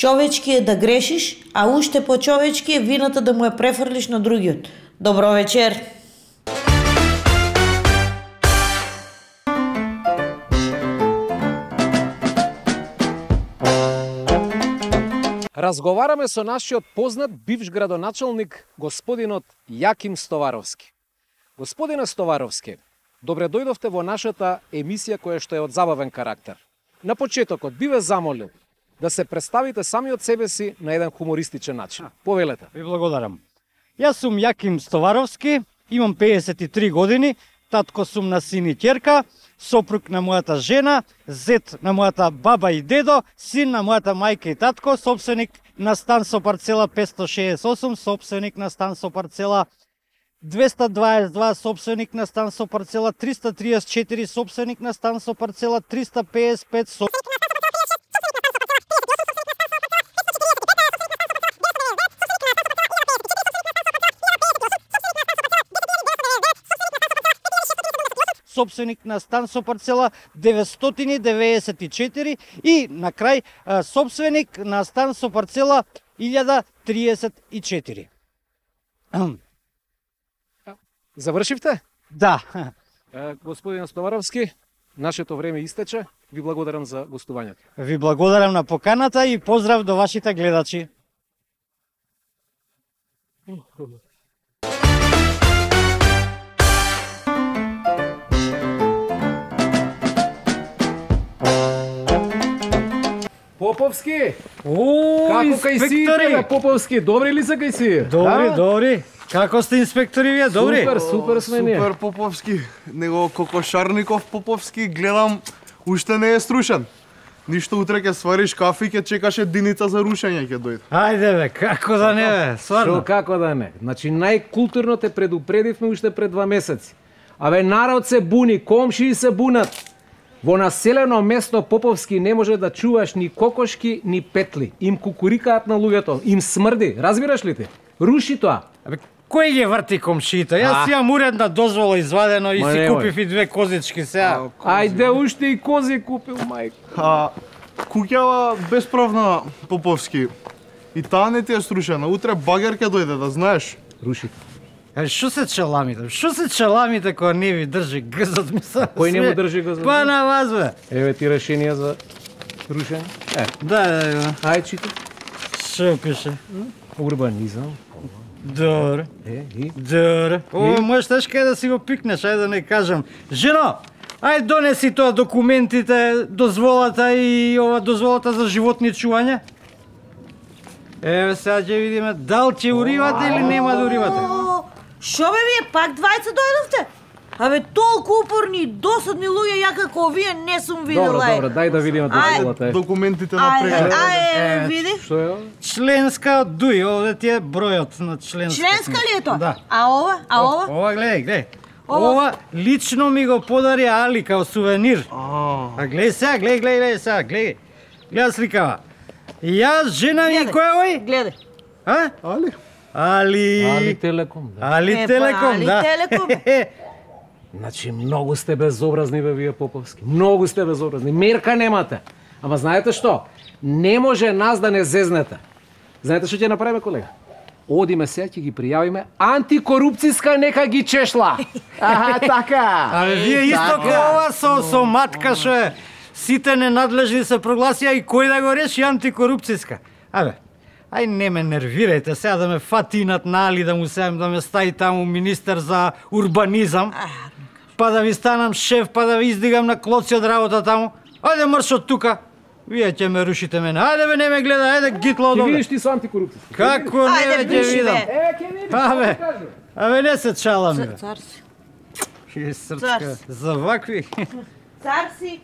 Човечки е да грешиш, а уште по-човечки е вината да му ја префрлиш на другиот. Добро вечер! Разговараме со нашиот познат бивш градоначалник, господинот Јаким Стоваровски. Господине Стоваровски, добре дојдовте во нашата емисија која што е од забавен карактер. На почетокот би ве замолил да се представите сами од себе си на еден хумористичен начин. Повелете. Ви благодарам. Јас сум Јаким Стоваровски, имам 53 години, татко сум на син и ќерка, сопруг на мојата жена, зет на мојата баба и дедо, син на мојата мајка и татко, собственик на стан со парцела 568, собственик на стан со парцела 222, собственик на стан со парцела 334, собственик на стан со парцела 355, собственик на стан со парцела 994 и на крај собственик на стан со парцела 1034. Завршивте? Да. Господин Стоваровски, нашето време истече. Ви благодарам за гостувањето. Ви благодарам на поканата и поздрав до вашите гледачи. Поповски! Како кај си, Поповски? Добри ли се кај си? Добри. Како сте инспектори вие? Добри? Супер сме ние. Супер Поповски. Него Кокошарников Поповски гледам уште не е струшен. Ништо утре ќе свариш кафе и ќе чекаш единица за рушење ќе дојде. Ајде бе, како да не бе, стварно. Шо како да не? Значи најкултурно те предупредивме уште пред 2 месеци. Абе народ се буни, комшии се бунат. Во населено место Поповски не може да чуваш ни кокошки, ни петли. Им кукурикаат на луѓето, им смрди, разбираш ли ти? Руши тоа. Абе, кој ги врти комшиите? Јас имам уредна дозвола извадено и си купив и 2 козички сега. Ајде уште и кози купил, мајко. Куќава бесправна Поповски. И таа не ти е струшена. Утре багер ќе дојде, да знаеш. Руши. Шо се челамите? Шо се челамите кога не ви држи гзот ми се? Кој не му држи гзот? Па на вас бе. Еве ти решение за рушење. Да. Ај читай. Шо пише? Урбанизам. Добре. И? Добре. Ово можеш кај да си го пикнеш, ајде да не кажам. Жено, ај донеси тоа документите, дозволата и ова дозволата за животни чување. Еве сега ќе видиме дал ќе уривате или нема да уривате. Шо бе вие пак двајца дојдовте? Абе толку упорни и досадни луѓе ја како вие не сум видела. Добро, дај да видиме дозволата. Документите на преглед. Ај, види. Што е ова? Членска дуј, овде ти е бројот на членска. Членска ли е тоа? Да. А ова? Ова гледај. Ова лично ми го подари Али као сувенир. А гледај сега, гледај сега, гледај. Гледај сликава. Јас, жена ми, кој е ој? Гледај. Али Телеком, да. Али Телеком, да. Значи, многу сте безобразни бе вие Поповски. Многу сте безобразни. Мерка немате. Ама знаете што? Не може нас да не зезнете. Знаете што ќе направиме, колега? Одиме сега, ќе ги пријавиме антикорупцијска нека ги чешла. Така. Абе, вие исто ова со матка што е. Сите ненадлежни се прогласија и кој да го реши антикорупцијска. Абе, ај не ме нервирајте сега да ме фатинат на Али да му сеам да ме стави таму министер за урбанизам. Па да ви станам шеф, па да ви издигам на клоци од работа таму. Ајде марш од тука. Вие ќе ме рушите мене. Ајде бе, не ме гледа, ајде гитло од Ќе овде. видиш ти со антикорупцијска. Како не ќе видам? Абе, не се чалам бе. Цар си. Српска. За вакви. Цар си.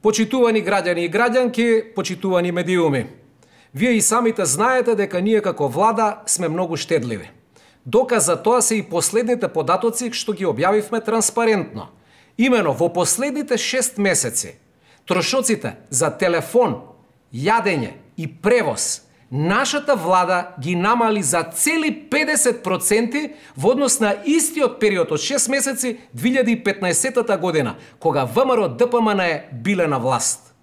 Почитувани граѓани и граѓанки, почитувани медиуми. Вие и самите знаете дека ние како влада сме многу штедливи. Доказ за тоа се и последните податоци што ги објавивме транспарентно. Имено во последните 6 месеци трошоците за телефон, јадење и превоз нашата влада ги намали за цели 50% во однос на истиот период од 6 месеци 2015 година, кога ВМРО ДПМН биле на власт.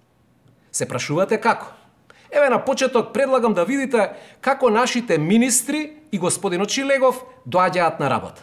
Се прашувате како? Еве на почеток предлагам да видите како нашите министри и господинот Шилегов доаѓаат на работа.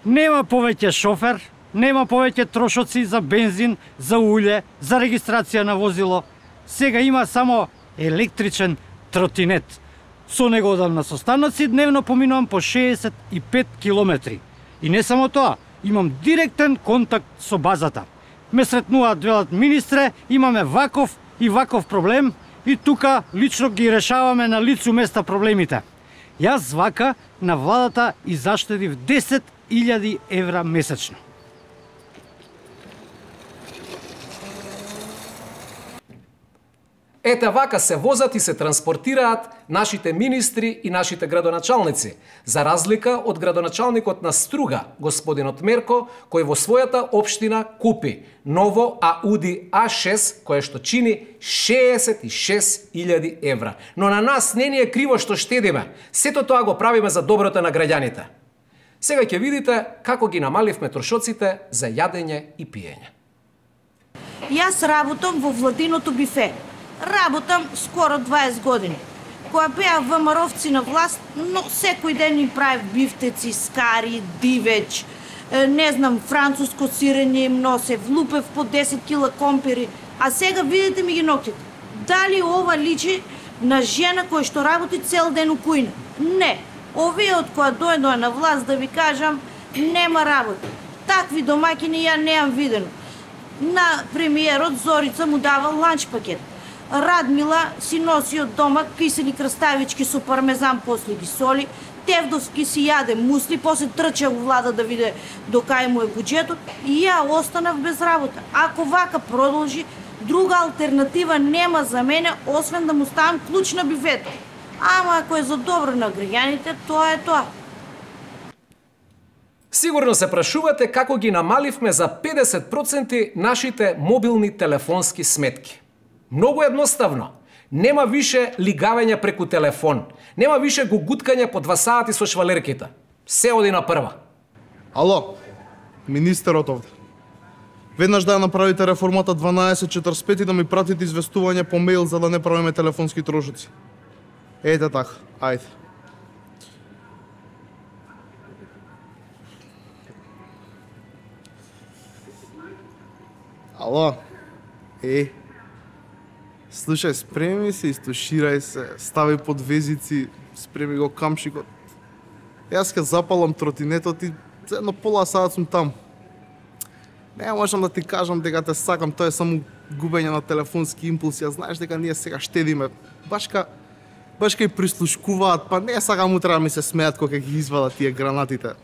Нема повеќе шофер, нема повеќе трошоци за бензин, за улје, за регистрација на возило. Сега има само електричен тротинет. Со него одам на состаноци, дневно поминувам по 65 километри. И не само тоа, имам директен контакт со базата. Ме сретнуваат, велат министре, имаме ваков и ваков проблем и тука лично ги решаваме на лицу места проблемите. Јас вака на владата и заштедив 10.000 евра месечно. Ете вака се возат и се транспортираат нашите министри и нашите градоначалници, за разлика од градоначалникот на Струга, господинот Мерко, кој во својата општина купи ново Ауди А6, кое што чини 66.000 евра. Но на нас не ни е криво што штедиме, сето тоа го правиме за доброто на граѓаните. Сега ќе видите како ги намаливме трошоците за јадење и пиење. Јас работам во владиното бифе. Работам скоро 20 години. Кога беа ВМРО-вци на власт, но секој ден им правев бифтеци, скари, дивеч, не знам, француско сирење им носев, лупев по 10 кила компири, а сега видите ми ги ноктите. Дали ова личи на жена која што работи цел ден у кујна? Не. Овие од која дојдоа на власт, да ви кажам, нема работа. Такви домаќини ја неам видено. На премиерот Зорица му дава ланч пакет. Радмила си носи од дома кисели краставички со пармезан, после ги соли. Тевдовски си јаде мусли, после трча у влада да виде до кај му е буџетот и ја останав без работа. Ако вака продолжи, друга алтернатива нема за мене, освен да му ставам клуч на бифето. Ама ако е за добро на граѓаните, тоа е тоа. Сигурно се прашувате како ги намаливме за 50% нашите мобилни телефонски сметки. Многу едноставно. Нема више лигавење преку телефон. Нема више го гуткање по 2 сати со швалерките. Се оди на прва. Ало, министерот овде. Веднаш да ја направите реформата 1245 и да ми пратите известување по мејл за да не правиме телефонски трошоци. Ете така, ајде. Ало, слушај, спреми се, истуширај се, стави под везици, спреми го камшикот. Јас ке запалам тротинетот и за едно пола саат сум таму. Не можам да ти кажам дека те сакам, тоа е само губење на телефонски импулси, а знаеш дека ние сега штедиме. Баш кај прислушкуваат, па не сакам утре да ми се смеат кога ги извадат тие гранатите.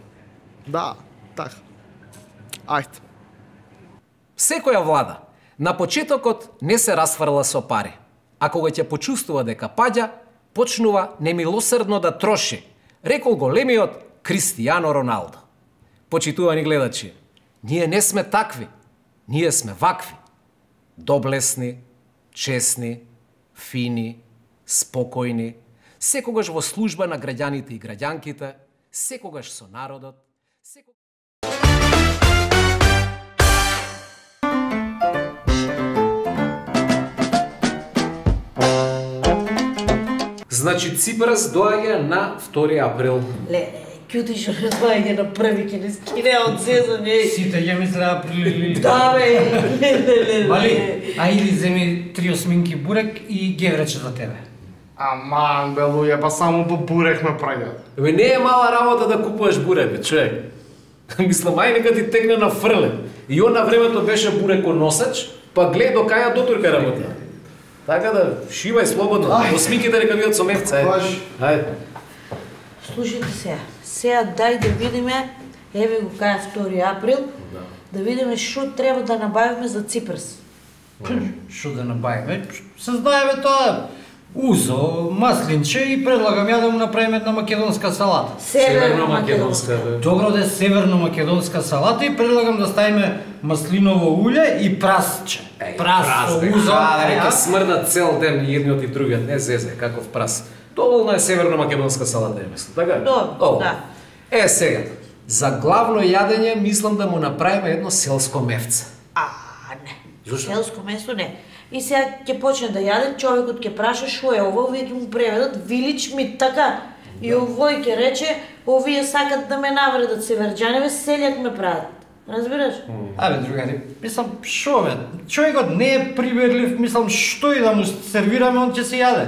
Да, така. Ајде. Секоја влада на почетокот не се расфрла со пари, а кога ќе почувствува дека паѓа, почнува немилосрдно да троши, рекол големиот Кристијано Роналдо. Почитувани гледачи, ние не сме такви, ние сме вакви. Доблесни, честни, фини, спокојни, секогаш во служба на граѓаните и граѓанките, секогаш со народот, Значи Ципрас доаѓа на 2 април. Кјути што не доаѓа на први, ке не скине од сезон, Сите ја мисля април. Да, бе. Мали, а иди земи 3 осминки бурек и геврече за тебе. Аман, бе, луѓе, па само по бурек ме праѓат. Бе, не е мала работа да купуваш бурек, бе, човек. Мислам, ајнека ти текне на фрле. И он на времето беше буреконосач, па глед до каја дотурка работа. Така да, шивај слободно. Осмиките нека бидат со мевца, ајде. Слушайте сега дај да видиме, еве го каја 2 април, да видиме што треба да набавиме за Ципрас. Што да набавиме? Се знаеме тоа. Узо, маслинче и предлагам ја да му направиме една македонска салата. Северно-македонска. Добро да е северно-македонска салата и предлагам да ставиме маслиново улје и прасче. Прас, узо. Дека смрдат цел ден и едниот и другиот, не зезе, каков прас. Доволно е северно-македонска салата, ја мислам, така? Добро, да. Сега, за главно јадење мислам да му направиме едно селско мевце. Не. Зошто? Селско место не. И сега ќе почне да јаде, човекот ќе праша шо е ова, овие ќе му преведат village meat, така. И овој ќе рече, овие сакат да ме навредат северџаневе, селјак ме прават. Разбираш? Абе, другари, мислам, шо бе, човекот не е приберлив, мислам, што и да му сервираме, он ќе се јаде.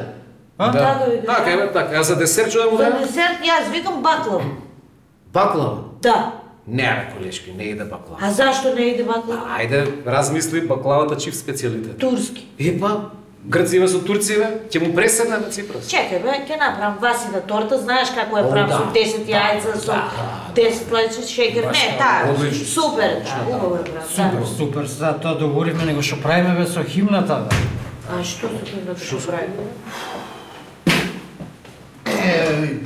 Така ви кажа. Така, така, а за десерт што да му За дадем? десерт јас викам баклава. Баклава? Да. Не, бе, колешки, не иде баклава. А зашто не иде баклава? Ајде, размисли баклавата чив специјалитет. Турски. Епа, грциве со турциве, ќе му преседне на Ципрас. Чекај бе, ќе направам васина торта, знаеш како ја правам да. со 10 јајца, со 10 клечи шекер. Не, таа, одлично. супер е таа, убаво е правам. Супер, сега тоа договоривме, него што правиме бе со химната, бе. А што со химната што прави?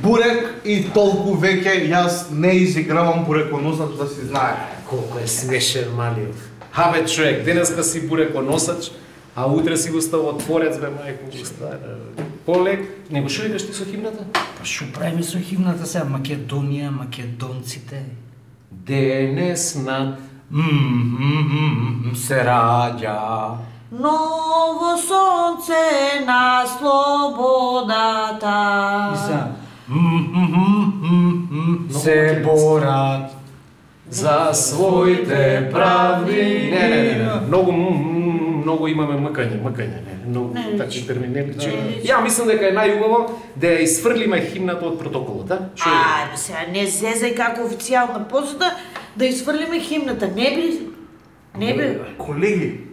Бурек и толку веќе јас не изигравам буреконосач да си знае. Колко е смешен Малиев. Абе, човек, денеска си буреконосач, а утре си го става творец, бе, мајко, полек. Него шо викаш ти со химната? Па што правиме со химната сега? Македонија, македонците. Денес над Се раѓа. Ново сонце на слободата. Се борат за своите правди. Не. Многу имаме мъкање, не. Многу такви термини не личи. Ја мислам дека е најубаво да ја изфрлиме химната од протоколот, а? Ајде сега, не зезај како официјална посуда да изфрлиме химната. Не би. Колеги,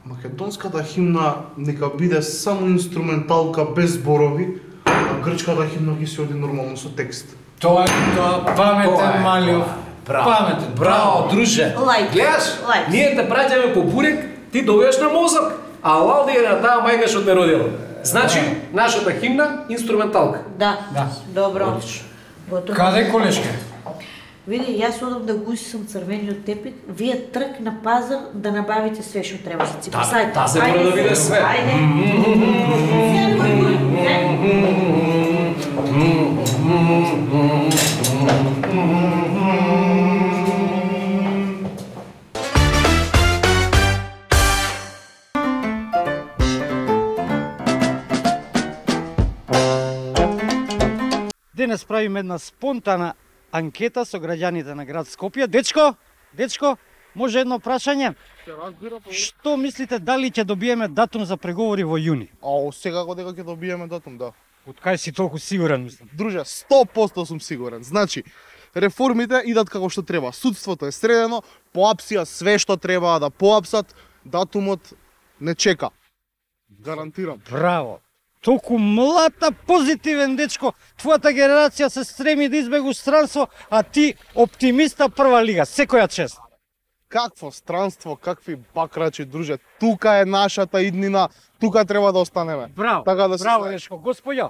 македонската химна нека биде само инструменталка без зборови, а грчката химна ќе се оди нормално со текст. Тоа паметен Малиов. Паметен. Браво, друже. Лайк. Гледаш? Лайк. Ние те праќаме по бурек, ти добиваш на мозок, а лалди е на таа мајка што те родила. Значи, нашата химна инструменталка. Да. Добро. Одлично. Готово. Каде колешке? Види, јас одам да го усисам црвениот тепик, вие трк на пазар да набавите све што треба за Ципрас. Тазе мора да биде све. Ајде. Денес правиме една спонтана анкета со граѓаните на град Скопје. Дечко, може едно прашање? Што мислите, дали ќе добиеме датум за преговори во јуни? Секако дека ќе добиеме датум, да. Од кај си толку сигурен, мислам? Друже, 100% сум сигурен. Значи, реформите идат како што треба. Судството е средено, поапсија све што треба да поапсат, датумот не чека. Гарантирам. Браво! Толку млата, позитивен дечко. Твојата генерација се стреми да избегу странство, а ти оптимиста прва лига. Секоја чест. Какво странство, какви бакрачи, друже. Тука е нашата иднина, тука треба да останеме. Браво, Така да се браво знае. дечко. Господјо,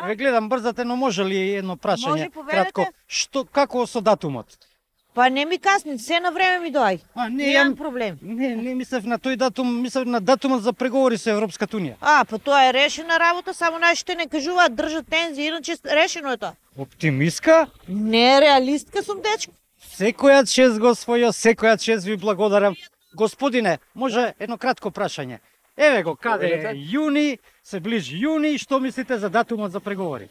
ве гледам брзате, но може ли едно прашање? Може, поведете. Кратко, како со датумот? Па не ми касни, се на време ми доај. Немам проблем. Не мислев на тој датум, мислев на датумот за преговори со Европската унија. Па тоа е решена работа, само нашите не кажуваат, држат тензија, иначе решено е тоа. Оптимистка? Не, реалистка сум, дечко. Секоја чест, господјо, секоја чест ви благодарам. Господине, може едно кратко прашање. Еве го, каде е јуни, се ближи јуни, што мислите за датумот за преговори?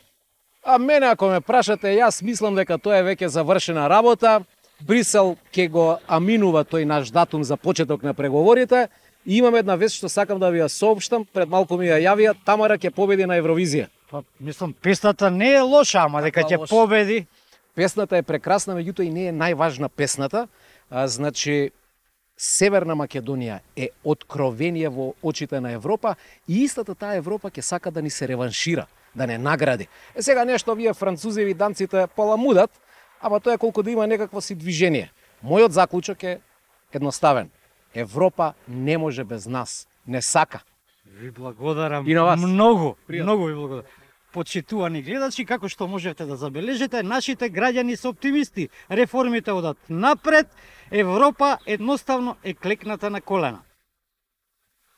А мене ако ме прашате, јас мислам дека тоа е веќе завршена работа. Брисел ќе го аминува тој наш датум за почеток на преговорите и имам една вест што сакам да ви ја соопштам, пред малку ми ја јавија, Тамара ќе победи на Евровизија. Па, мислам, песната не е лоша, ама дека ќе победи. Песната е прекрасна, меѓутоа и не е најважна песната. Значи, Северна Македонија е откровение во очите на Европа и истата таа Европа ќе сака да ни се реваншира, да не награди. Сега нешто вие французеви данците поламудат, ама тоа е колку да има некакво си движение. Мојот заклучок е едноставен. Европа не може без нас. Не сака. Ви благодарам И на вас. многу, Пријатно. многу ви благодарам. Почитувани гледачи, како што можете да забележите, нашите граѓани се оптимисти. Реформите одат напред, Европа едноставно е клекната на колена.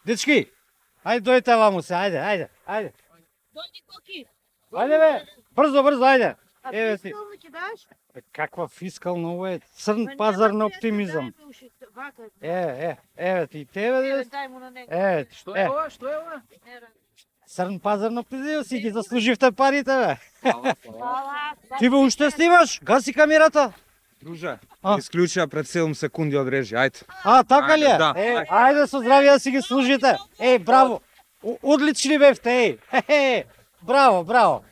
Дечки, ајде дојдете ваму се, ајде. Дојди Коки. Ајде бе, брзо, ајде. А Еве си. фискално ќе даш? Каква фискална ова е црн пазар на оптимизам. Еве ти, тебе да. Дај му на него. Еве ти, Што е ова? Што е ова? црн пазар на оптимизам, си ги заслуживте парите бе. Фала. Ти бе уште снимаш? Гаси камерата. Друже, А? исклучија пред 7 секунди од режи, ајде. Така ли е? Да. Ајде со здравје да си ги служите. Браво. Одлични бевте, Браво.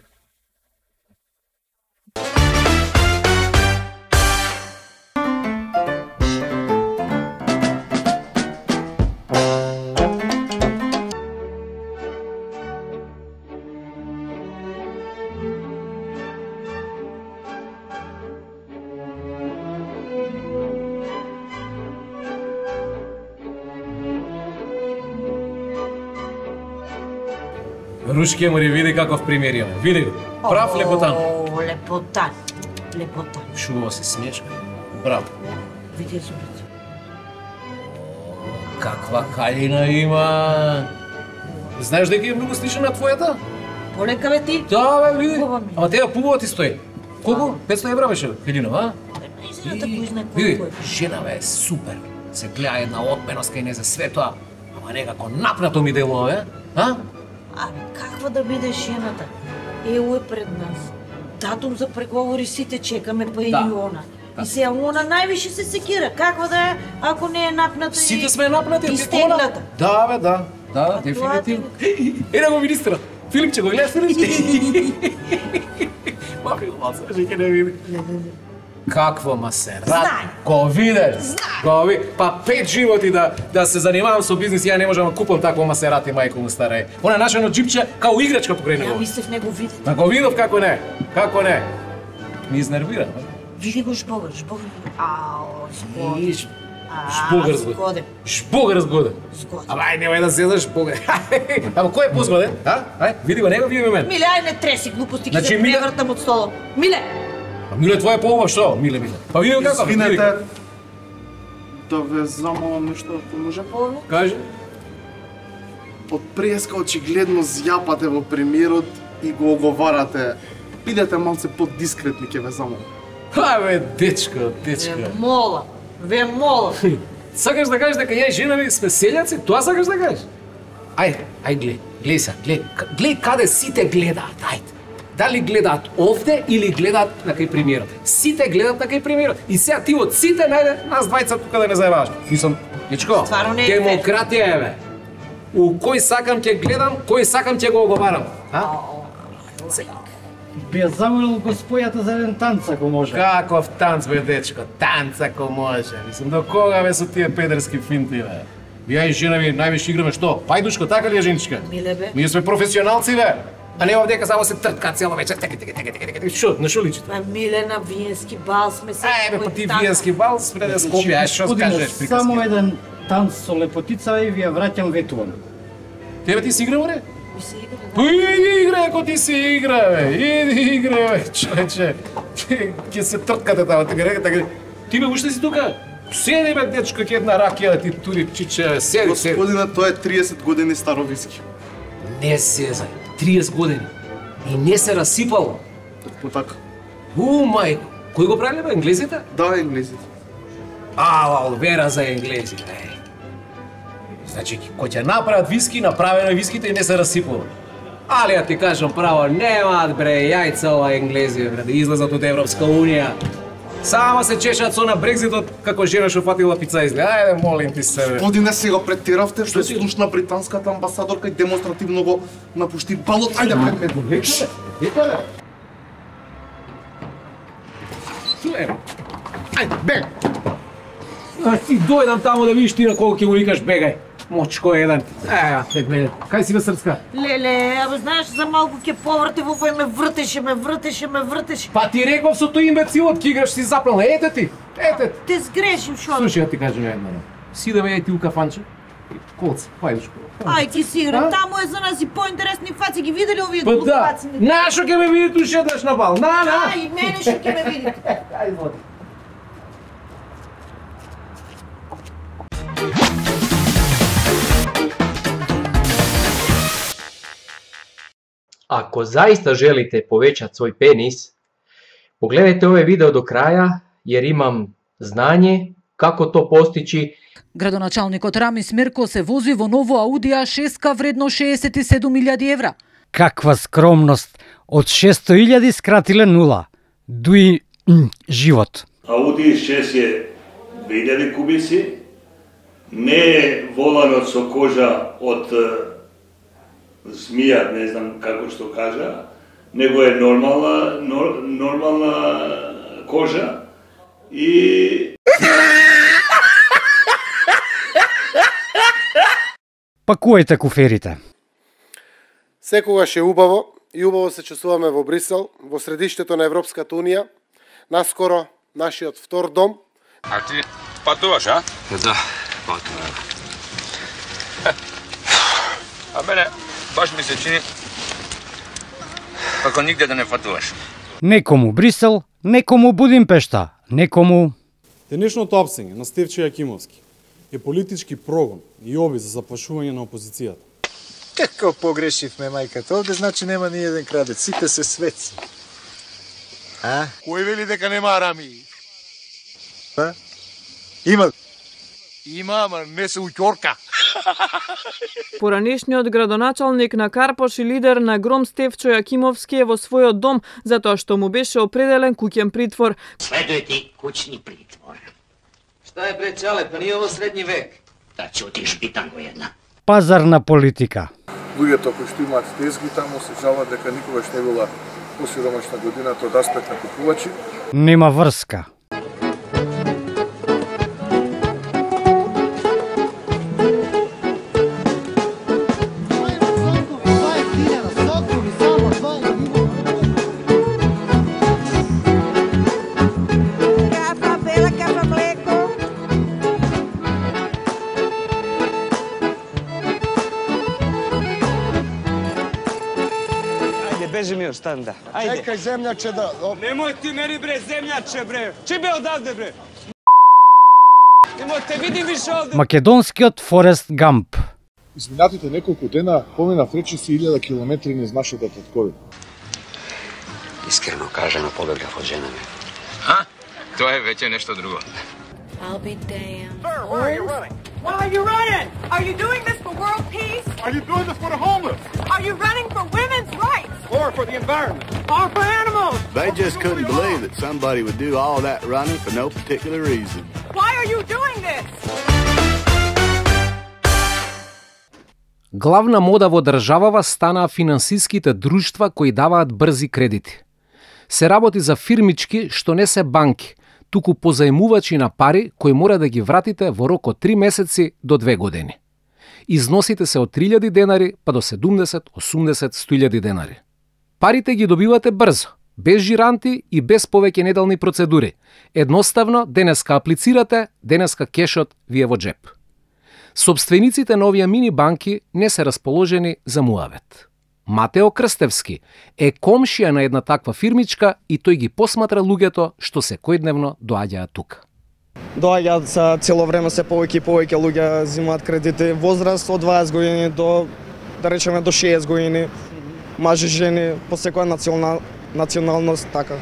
Рушке мори, види каков пример има. Види го. Прав лепотан. О, лепотан. Шубаво се смешка. Браво. Види зубите. Каква калина има. Знаеш дека е многу слична на твојата? Полека бе ти. Да, бе, види. Убава ми. Ама теја пубава ти стои. Колку? 500 евра беше, Хелина, а? Наистина кој знае Види, колку е. жена бе, супер. Се гледа една отменоска и не за све тоа. Ама некако напнато ми делува, бе. А? Абе, каква да биде жената? Ево е пред нас. Датум за преговори сите чекаме, па и Да. она. И сега она највише се секира. Каква да е, ако не е напната Сите сме напнати, и ти стегната. Да, бе, да. Да, тоа дефинитивно. Еда го министра. Филипче, го гледаш Филипче? Махи го малце, ќе не види. Какво масер? Знае. Го видиш? Го ви. Па 5 животи да се занимавам со бизнис, ја не можам да купам такво масерати, мајко му старе. Она нашено джипче као играчка покрај Ја него. мислев него види. Ма го видов како не. Како не. Ми изнервира. Види го жбогар. Ао, згоден. Иш, Жбогар згоден. Згоден. Жбогар згоден. Згоден. Ама ај, немај да сезаш Бога. Ама кој е позгоден? А? Ај, види го него, види го мен. Миле, ај не треси глупости, ќе Значи, се Миле- превртам од столот. Миле! А Миле, твоја поуба што? Миле. Па види го како. Извинете, да ве замолам нешто, ако може. Кажи. Од преска очигледно зјапате во премиерот и го оговарате. Бидете малце подискретни, ќе ве замолам. Абе, дечко. Ве мола. Сакаш да кажеш дека ја и жена ми сме селјаци? Тоа сакаш да кажеш? Ај, гледај се, гледај каде сите гледаат, ајде. Дали гледаат овде или гледаат на кај премиерот? Сите гледаат на кај премиерот. И сега ти од сите најде нас двајца тука да не заебаваш. Мислам, дечко, Стварно не е демократија е, бе. У кој сакам ќе гледам, кој сакам ќе го оговарам. А? Би ја замолил господјата за еден танц, ако може. Каков танц, бе, дечко? Танц ако може. Мислам, до кога бе со тие педерски финти, бе? Ја и жена ми највише играме што? Пајдушко, така ли е, женичка? Миле, бе. Ние сме професионалци, бе. А не овдека само се тртка цело вечер. Шо, на шо личи тоа? Па Миле, на виенски бал сме се. Ај, бе, па ти виенски бал спре да Скопје, ај, шо Господине, скажеш Само приказки? еден танц со лепотица и ви ја враќам ветуван. Тебе ти си игра, море? Ми се игра, да. Па иди игра, ако ти си игра, бе. Иди игра, бе, човече. Ќе се трткате тamo, така. Ти бе, уште си тука? Седи, бе, дечко, ќе една ракија да ти тури чиче, седи. Господине, тоа е 30 години старо виски. Не сезај, 30 години. И не се расипало. По така. Мајко, кој го правиле, бе, енглезите? Да, енглезите. Вера за енглези, бе. Значи, кој ќе направат виски, направено е виските и не се расипало. Али ја ти кажам право, немаат, бре, јајца ова енглези, бре, да излезат од Европска Унија. Само се чешат со на Брекзитот, како жена што фатила пица изгледа. Ајде, молим ти се, бе. Господине, сега претиравте, што ти? слушна британската амбасадорка и демонстративно го напушти балот. Ајде, пред мен. Ето, бе. Чуе, бе. Ајде, бег. А ти дојдам таму да видиш ти на колку ќе му викаш бегај. Мочко еден. Те гледа. Кај си бе Српска? Леле, абе знаеш за малку ќе поврте во вој ме вртеше. Па ти реков со тој имбецилот ќе играш си запрал. Ете ти. Те сгрешим шо? Слушај, ја ти кажам едно. Сидеме ја ти у кафанче. Колце, пајдеш. Ај ти си игра, таму е за нас и поинтересни фаци, ги видели овие Па да, глупаци? нашо ќе ме видите ушедаш на бал, на! Ај, мене што ќе ме видите. Ај, води. Ако заиста желите повеќат свој пенис, погледајте овој видео до краја, jer имам знање како то постичи. Градоначалникот Рамис Мерко се вози во ново Ауди А6 вредно 67.000 евра. Каква скромност! Од 600.000 скратиле 0. Дуи живот. Ауди 6 е 2000 кубици, не е воланот со кожа од змија, не знам како што кажа, него е нормална кожа и Пакувајте куферите. Секогаш е убаво и убаво се чувствуваме во Брисел, во средиштето на Европската Унија, наскоро нашиот втор дом. А ти патуваш, а? Да, патувам. А мене баш ми се чини како нигде да не патуваш. Некому Брисел, некому Будимпешта, некому... Денешното апсење на Стефчо Јакимовски е политички прогон и обид за заплашување на опозицијата. Како погрешивме, мајката, овде значи нема ни еден крадец, сите се светци. А? Кој вели дека нема рами? Па? Има. Има, ама не се уќорка. Поранешниот градоначалник на Карпош и лидер на Гром Стефчо Јакимовски е во својот дом затоа што му беше определен куќен притвор. Следуе ти куќни притвор. Šta je bre čale, pa nije ovo srednji vek. Да ćutiš bitango една. Пазарна политика. Луѓето кои што имаат тезги таму се жалат дека никогаш не била посиромашна годината од аспект на купувачи. Нема врска. Beži mi ostani da. Ajde. Čekaj zemljače da... Nemoj ti meni bre zemljače bre. Čibe odavde bre. Nemoj te vidim više ovde. Македонскиот Форест Гамп. Изминатите неколку дена поминав речиси 1000 километри низ нашата татковина. Искрено кажано, побегав од жена ми. А? Тоа е веќе нешто друго. I'll be damned. Sir, where are you running? Why are you running? Are you doing this for world peace? Are you doing this for the homeless? Are you running for women's rights? Or for the environment? Or for animals? They just couldn't believe that somebody would do all that running for no particular reason. Why are you doing this? Главна мода во државава станаа финансиските друштва кои даваат брзи кредити. Се работи за фирмички што не се банки, туку позајмувачи на пари кои мора да ги вратите во рок од 3 месеци до 2 години. Износите се од 3000 денари па до 70, 80, 100.000 денари. Парите ги добивате брзо, без жиранти и без повеќе неделни процедури. Едноставно, денеска аплицирате, денеска кешот ви е во джеп. Собствениците на овие мини банки не се расположени за муавет. Матео Крстевски е комшија на една таква фирмичка и тој ги посматра луѓето што секојдневно доаѓаат тука. Доаѓаат за цело време се повеќе и повеќе луѓе земаат кредити, возраст од 20 години до, да речеме, до 60 години, мажи, жени, по секоја националност, така.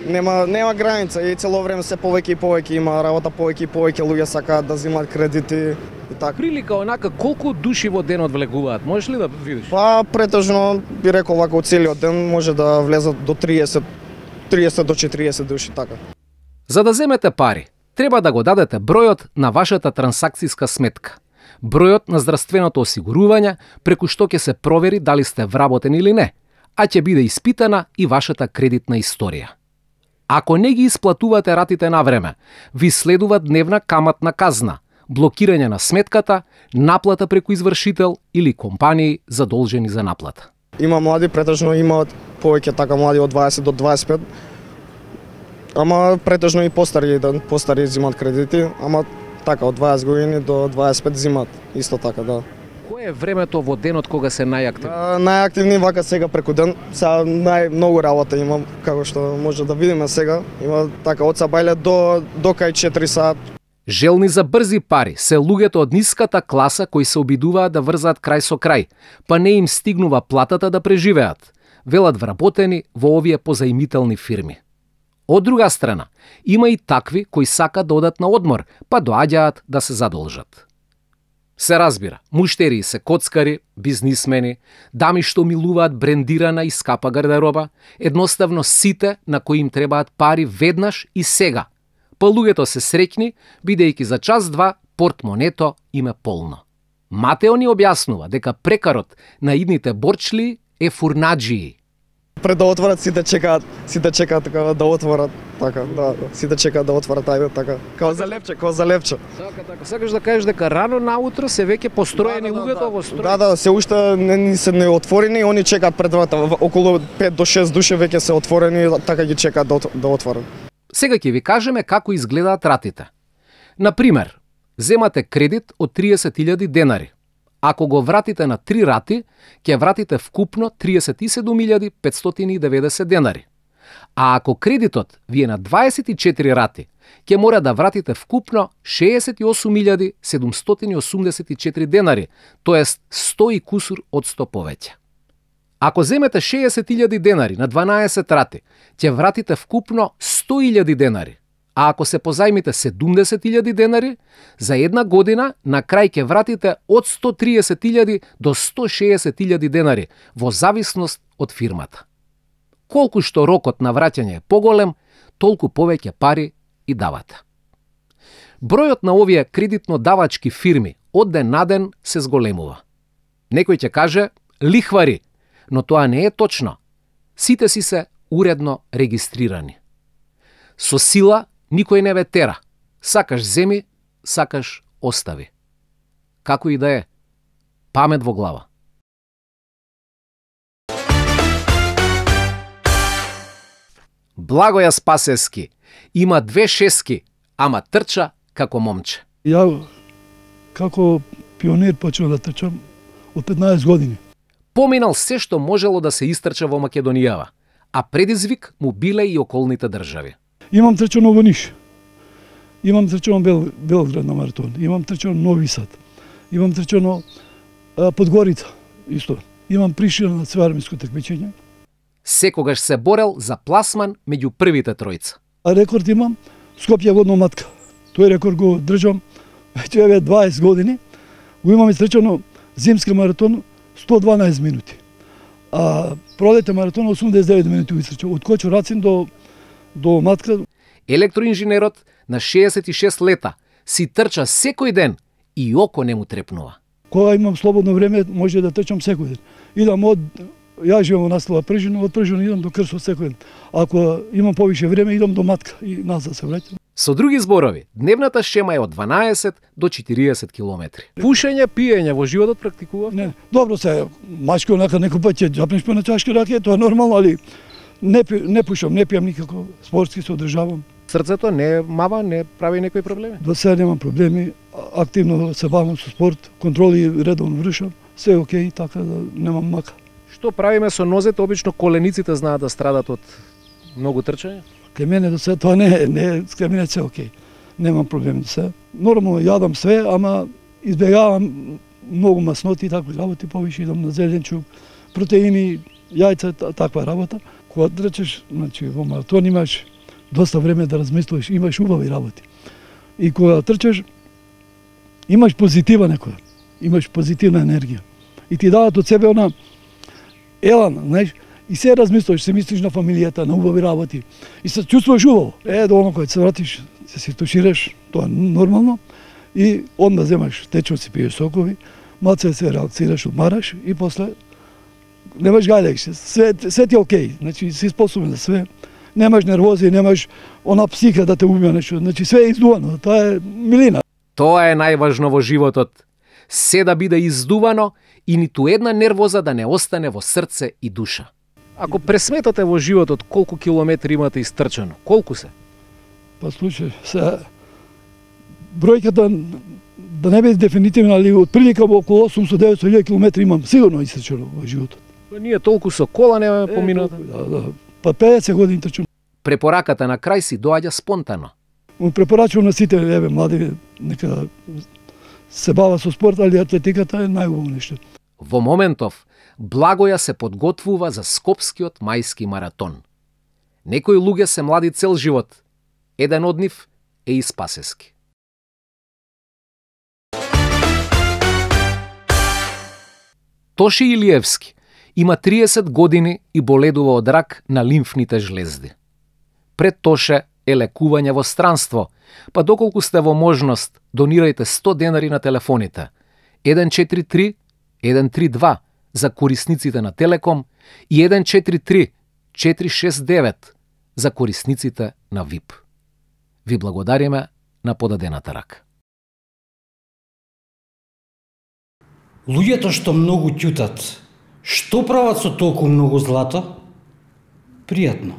Нема граница и цело време се повеќе и повеќе има работа, повеќе и повеќе луѓе сакаат да земаат кредити и така. Прилика онака колку души во денот влегуваат, можеш ли да видиш? Па претежно би рекол вака целиот ден може да влезат до 30 до 40 души, така. За да земете пари, треба да го дадете бројот на вашата трансакцијска сметка, бројот на здравственото осигурување, преку што ќе се провери дали сте вработени или не, а ќе биде испитана и вашата кредитна историја. Ако не ги исплатувате ратите на време, ви следува дневна каматна казна, блокирање на сметката, наплата преку извршител или компании задолжени за наплата. Има млади, претежно имаат повеќе така млади од 20 до 25, ама претежно и постари земат кредити, ама така од 20 години до 25 зимат, исто така, да. Кое е времето во денот кога се најактивни? Најактивни вака сега преку ден, сега многу работа имам, како што може да видиме сега, има така од сабајле до кај 4 сат. Желни за брзи пари се луѓето од ниската класа кои се обидуваат да врзаат крај со крај, па не им стигнува платата да преживеат, велат вработени во овие позаимителни фирми. Од друга страна, има и такви кои сакаат да одат на одмор, па доаѓаат да се задолжат. Се разбира, муштерии се коцкари, бизнисмени, дами што милуваат брендирана и скапа гардероба, едноставно сите на кои им требаат пари веднаш и сега. Па луѓето се среќни, бидејќи за час-два портмонето им е полно. Матео ни објаснува дека прекарот на идните борчли е фурнаджии. Пред да отворат сите чекаат така да отворат, така, да, сите чекаат да отворат, ајде така. Као за лепче. Сакаш да кажеш дека рано наутро се веќе построени луѓето во строј? Да, се уште не се неотворени, они чекаат пред врата, околу 5 до 6 души веќе се отворени, така ги чекаат да отворат. Сега ќе ви кажеме како изгледаат ратите. Например, земате кредит од 30.000 денари. Ако го вратите на 3 рати, ќе вратите вкупно 37.590 денари. А ако кредитот ви е на 24 рати, ќе мора да вратите вкупно 68.784 денари, тоест 100 и кусур од 100 повеќе. Ако земете 60.000 денари на 12 рати, ќе вратите вкупно 100.000 денари. А ако се позајмите 70.000 денари, за една година на крај ќе вратите од 130.000 до 160.000 денари, во зависност од фирмата. Колку што рокот на враќање е поголем, толку повеќе пари и давате. Бројот на овие кредитно-давачки фирми од ден на ден се зголемува. Некој ќе каже лихвари, но тоа не е точно. Сите си се уредно регистрирани. Со сила никој не ве тера. Сакаш земи, сакаш остави. Како и да е, памет во глава. Благоја Спасески има 2 шески, ама трча како момче. Ја како пионер почнав да трчам од 15 години. Поминал се што можело да се истрча во Македонијава, а предизвик му биле и околните држави. Имам трчано во Ниш, имам трчано Белград на маратон, имам трчано Нови Сад, имам трчано Подгорица, исто. Имам Пришина на свеармиско такмичење. Секогаш се борел за пласман меѓу првите тројца. А рекорд имам Скопје водно матка. Тој рекорд го држам веќе 20 години. Го имам трчано зимски маратон 112 минути. А пролетен маратон 89 минути изтрчав од Кочо-Рацин до матка. Електроинженерот на 66 лета си трча секој ден и око не му трепнува. Кога имам слободно време, може да трчам секој ден. Идам ја живеам во населба Прежина, од Прежина идам до Крсо секој ден. Ако имам повише време, идам до матка и назад се враќам. Со други зборови, дневната шема е од 12 до 40 километри. Пушење, пиење во животот практикував? Не, добро се, мачко онака некој пат ќе џапнеш по на чашка ракија, тоа е нормално, али не пушам, не пијам никако, спортски се одржавам. Срцето не мава, не прави некои проблеми? До сега немам проблеми, активно се бавам со спорт, контроли редовно вршам, се е окей, така да немам мака. Што правиме со нозете? Обично колениците знаат да страдат од многу трчање? Кај мене до сега тоа не, кај мене се окей. Немам проблеми до сега. Нормално јадам све, ама избегавам многу масноти и такви работи, повише идам на зеленчук, протеини, јајца, таква работа. Кога трчаш, значи во маратон имаш доста време да размислуваш, имаш убави работи. И кога трчаш, имаш позитива некоја, имаш позитивна енергија. И ти дават од себе она елан, знаеш, и се размислуваш, се мислиш на фамилијата, на убави работи. И се чувствуваш убаво. До оно кога се вратиш, се тушираш, тоа е нормално. И онда земаш течност, си пиеш сокови, малце се релаксираш, одмараш и после немаш гајлек, све ти е окей, значи си способен за све. Немаш нервози, немаш она психа да те убија нешто, значи све е издувано, тоа е милина. Тоа е најважно во животот. Се да биде издувано и ниту една нервоза да не остане во срце и душа. Ако пресметате во животот колку километри имате истрчано, колку се? Па слушај, се бројката да не биде дефинитивна, али од прилика околу 800-900 километри имам сигурно истрчано во животот. Ние толку со кола не поминато. Да. Па 50 години трчам. Препораката на крај си доаѓа спонтано. Му препорачувам на сите млади нека се бава со спорт, али атлетиката е најубаво нешто. Во моментов Благоја се подготвува за Скопскиот мајски маратон. Некои луѓе се млади цел живот. Еден од нив е и Спасески. Тоши Илиевски има 30 години и боледува од рак на лимфните жлезди. Пред Тоше е лекување во странство, па доколку сте во можност, донирајте 100 денари на телефоните 143 132 за корисниците на Телеком и 143 469 за корисниците на ВИП. Ви благодариме на подадената рака. Луѓето што многу ќутат, што прават со толку многу злато? Пријатно.